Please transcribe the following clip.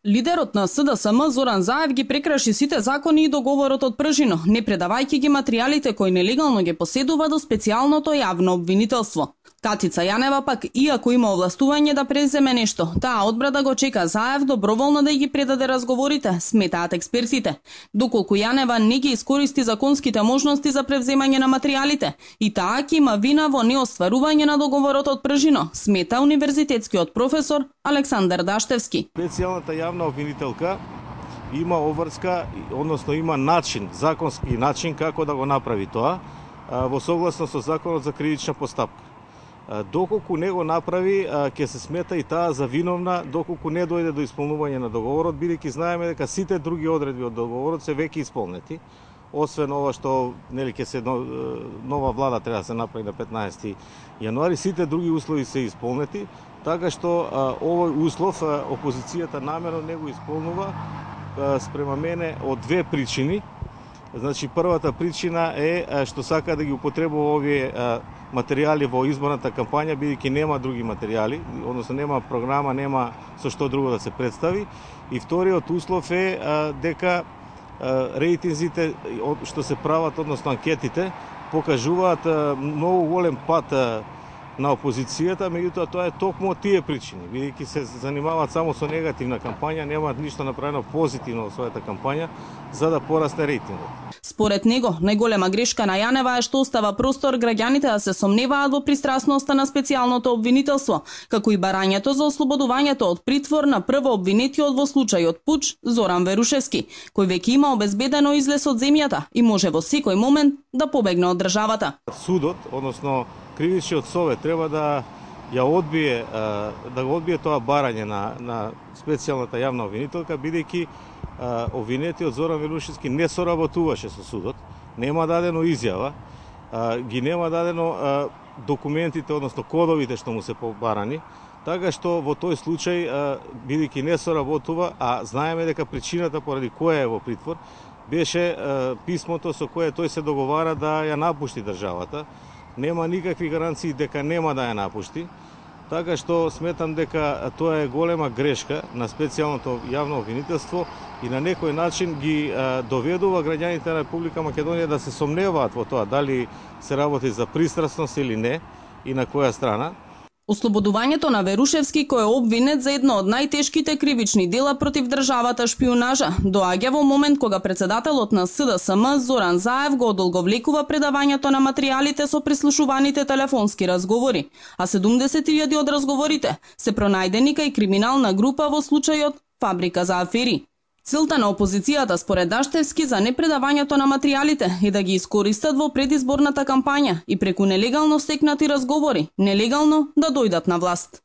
Лидерот на СДСМ Зоран Заев ги прекраши сите закони и договорот од Пржино, не предавајќи ги материјалите кои нелегално ги поседува до специјалното јавно обвинителство. Катица Јанева пак, иако има овластување да преземе нешто, таа одбра да го чека Заев доброволно да ги предаде разговорите, сметаат експертите. Доколку Јанева не ги искористи законските можности за превземање на материјалите, и таа ќе има вина во неостварување на договорот од Пржино, смета универзитетскиот професор Александар Даштевски. Специјалната јавна обвинителка има обврска, односно има начин, законски начин како да го направи тоа, во согласно со законот за кривична постапка. Доколку не го направи, ќе се смета и таа за виновна доколку не дојде до исполнување на договорот, бидејќи знаеме дека сите други одредби од договорот се веќе исполнети, освен ова што ќе се нова влада треба да се направи на 15 јануари, сите други услови се исполнети, така што овој услов опозицијата намерно не го исполнува спрема мене од две причини. Значи, првата причина е што сака да ги употребува овие материјали во изборната кампања, бидејќи нема други материјали, односно нема програма, нема со што друго да се представи. И вториот услов е дека рейтинзите што се прават, односно анкетите, покажуваат многу голем пат на опозицијата, меѓутоа тоа е токму од тие причини, бидејќи се занимаваат само со негативна кампања, немаат ништо направено позитивно во својата кампања за да порасне рейтингот. Според него, најголема грешка на Јанева е што остава простор граѓаните да се сомневаат во пристрасноста на специјалното обвинителство, како и барањето за ослободувањето од притвор на прво обвинетиот во случајот Пуч Зоран Верушевски, кој веќе има обезбедено излез од земјата и може во секој момент да побегне од државата. Судот, односно Кривичниот совет треба да ја одбие, да го одбие тоа барање на специјалната јавна обвинителка, бидејќи обвинетиот Зоран Верушевски не соработуваше со судот, нема дадено изјава, ги нема дадено документите, односно кодовите што му се побарани, така што во тој случај, бидејќи не соработува, а знаеме дека причината поради која е во притвор, беше писмото со кое тој се договара да ја напушти државата. Нема никакви гаранции дека нема да ја напушти, така што сметам дека тоа е голема грешка на специјалното јавно обвинителство и на некој начин ги доведува граѓаните на Република Македонија да се сомневаат во тоа дали се работи за пристрасност или не и на која страна. Ослободувањето на Верушевски, кој е обвинет за едно од најтешките кривични дела против државата шпионажа, доаѓа во момент кога председателот на СДСМ Зоран Заев го одолговлекува предавањето на материјалите со прислушуваните телефонски разговори, а 70.000 од разговорите се пронајдени кај криминална група во случајот Фабрика за афери. Целта на опозицијата според Даштевски за непредавањето на материјалите е да ги искористат во предизборната кампања и преку нелегално стекнати разговори, нелегално да дојдат на власт.